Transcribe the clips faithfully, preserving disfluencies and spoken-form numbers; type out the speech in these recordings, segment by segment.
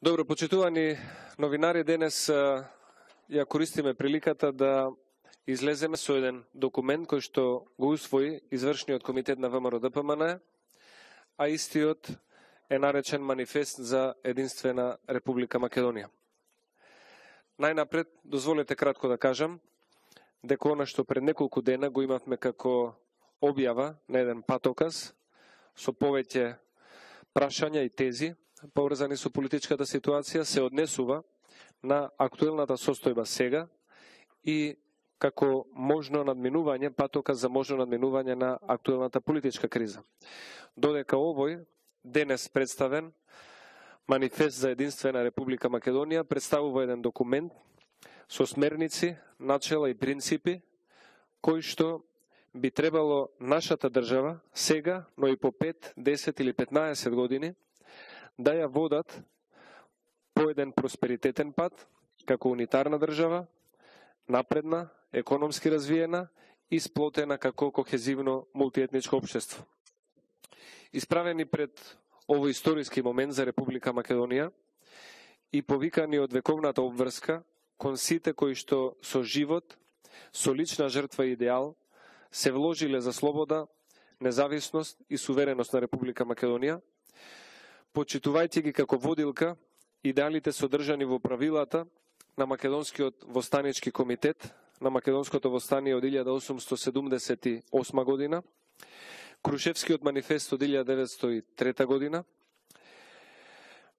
Добро, почитувани новинари, денес ја користиме приликата да излеземе со еден документ кој што го усвои извршниот комитет на ВМРО Д П М Н, а истиот е наречен Манифест за единствена Република Македонија. Најнапред, дозволете кратко да кажам дека она што пред неколку дена го имавме како објава на еден патоказ со повеќе прашања и тези поврзани со политичката ситуација се однесува на актуелната состојба сега и како можно надминување, патоказ за можно надминување на актуелната политичка криза. Додека овој денес представен Манифест за единствена Република Македонија представува еден документ со смерници, начела и принципи кои што би требало нашата држава сега, но и по пет, десет или петнаесет години да ја водат по еден просперитетен пат, како унитарна држава, напредна, економски развиена и сплотена како кохезивно мултиетничко општество. Исправени пред овој историски момент за Република Македонија и повикани од вековната обврска кон сите кои што со живот, со лична жртва и идеал се вложиле за слобода, независност и сувереност на Република Македонија, почитувајќи ги како водилка идеалите содржани во правилата на Македонскиот востанички комитет на Македонското востание од илјада осумстотини седумдесет и осма година, Крушевскиот манифест од илјада деветстотини и трета година,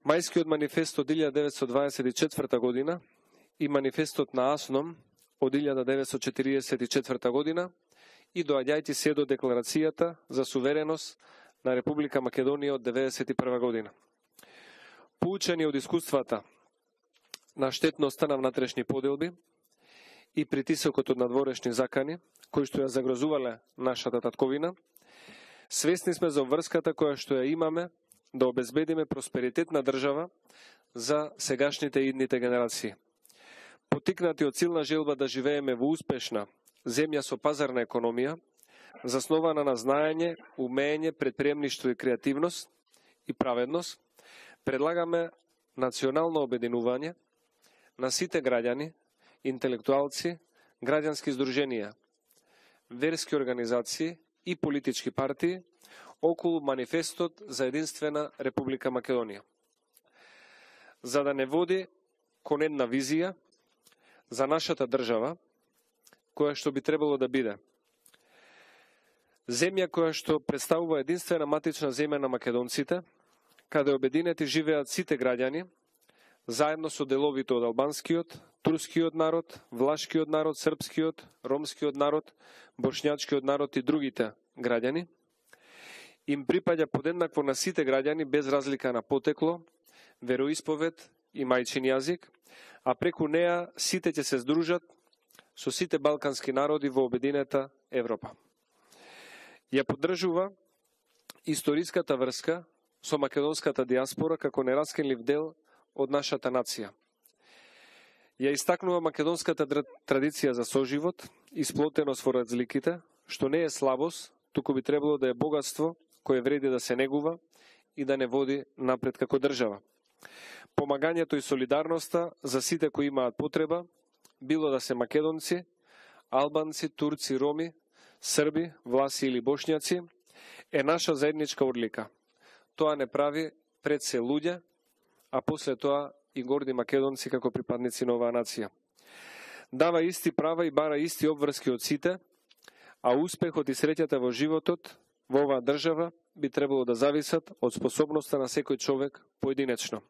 Мајскиот манифест од илјада деветстотини дваесет и четврта година и манифестот на Асном од илјада деветстотини четиридесет и четврта година и доаѓајќи се до декларацијата за сувереност на Република Македонија од деветдесет и прва година. Поучени од искуствата на штетноста на внатрешни поделби и притисокот од надворешни закани, кои што ја загрозувале нашата татковина, свесни сме за обврската која што ја имаме да обезбедиме просперитет на држава за сегашните и идните генерации. Потикнати од силна желба да живееме во успешна земја со пазарна економија, заснована на знаење, умење, предприемништво и креативност и праведност, предлагаме национално обединување на сите граѓани, интелектуалци, граѓански здруженија, верски организации и политички партии околу Манифестот за единствена Република Македонија. За да не води кон една визија за нашата држава, која што би требало да биде земја која што представува единствена матична земја на македонците, каде обединети живеат сите граѓани, заедно со деловите од албанскиот, турскиот народ, влашкиот народ, српскиот, ромскиот народ, бошњачкиот народ и другите граѓани, им припаѓа подеднакво на сите граѓани без разлика на потекло, вероисповед и мајчин јазик, а преку неа сите ќе се здружат со сите балкански народи во обединета Европа. Ја поддржува историската врска со македонската диаспора како нераскинлив дел од нашата нација. Ја истакнува македонската традиција за соживот и сплотеност во разликите, што не е слабост, туку би требало да е богатство кое вреди да се негува и да не води напред како држава. Помагањето и солидарноста за сите кои имаат потреба, било да се македонци, албанци, турци, роми, срби, власи или бошњаци, е наша заедничка одлика. Тоа не прави пред се луѓе, а после тоа и горди македонци како припадници на оваа нација. Дава исти права и бара исти обврски од сите, а успехот и среќата во животот во оваа држава би требало да зависат од способноста на секој човек поединечно.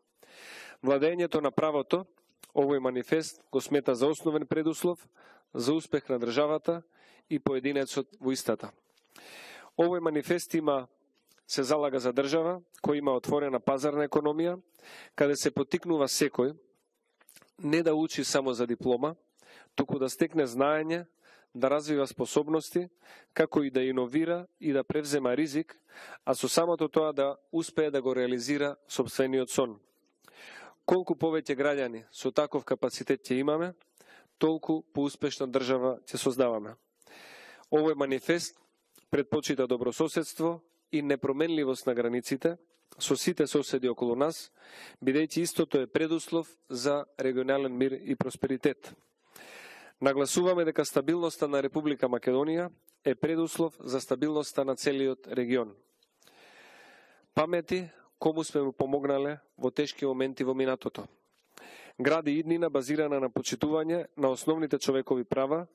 Владењето на правото, овој манифест го смета за основен предуслов за успех на државата и поединецот во истата. Овој манифест има се залага за држава која има отворена пазарна економија, каде се потикнува секој не да учи само за диплома, туку да стекне знаење, да развива способности, како и да иновира и да превзема ризик, а со самото тоа да успее да го реализира сопствениот сон. Колку повеќе граѓани со таков капацитет ќе имаме, толку поуспешна држава ќе создаваме. Овој манифест предпочита добрососедство и непроменливост на границите, со сите соседи околу нас, бидејќи истото е предуслов за регионален мир и просперитет. Нагласуваме дека стабилноста на Република Македонија е предуслов за стабилноста на целиот регион. Памети кому сме му помогнале во тешки моменти во минатото. Гради иднина базирана на почитување на основните човекови права,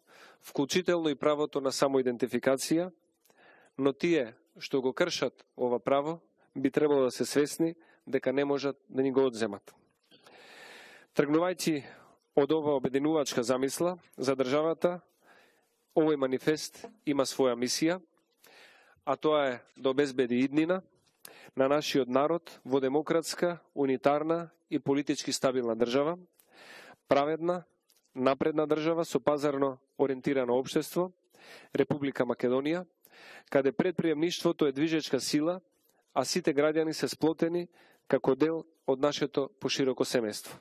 вклучително и правото на самоидентификација, но тие што го кршат ова право би требало да се свесни дека не можат да ни го одземат. Тргнувајќи од ова обединувачка замисла за државата, овој манифест има своја мисија, а тоа е да обезбеди иднина на нашиот народ во демократска, унитарна и политички стабилна држава, праведна, напредна држава со пазарно ориентирано општество, Република Македонија, каде предприемништвото е движечка сила, а сите граѓани се сплотени како дел од нашето пошироко семејство.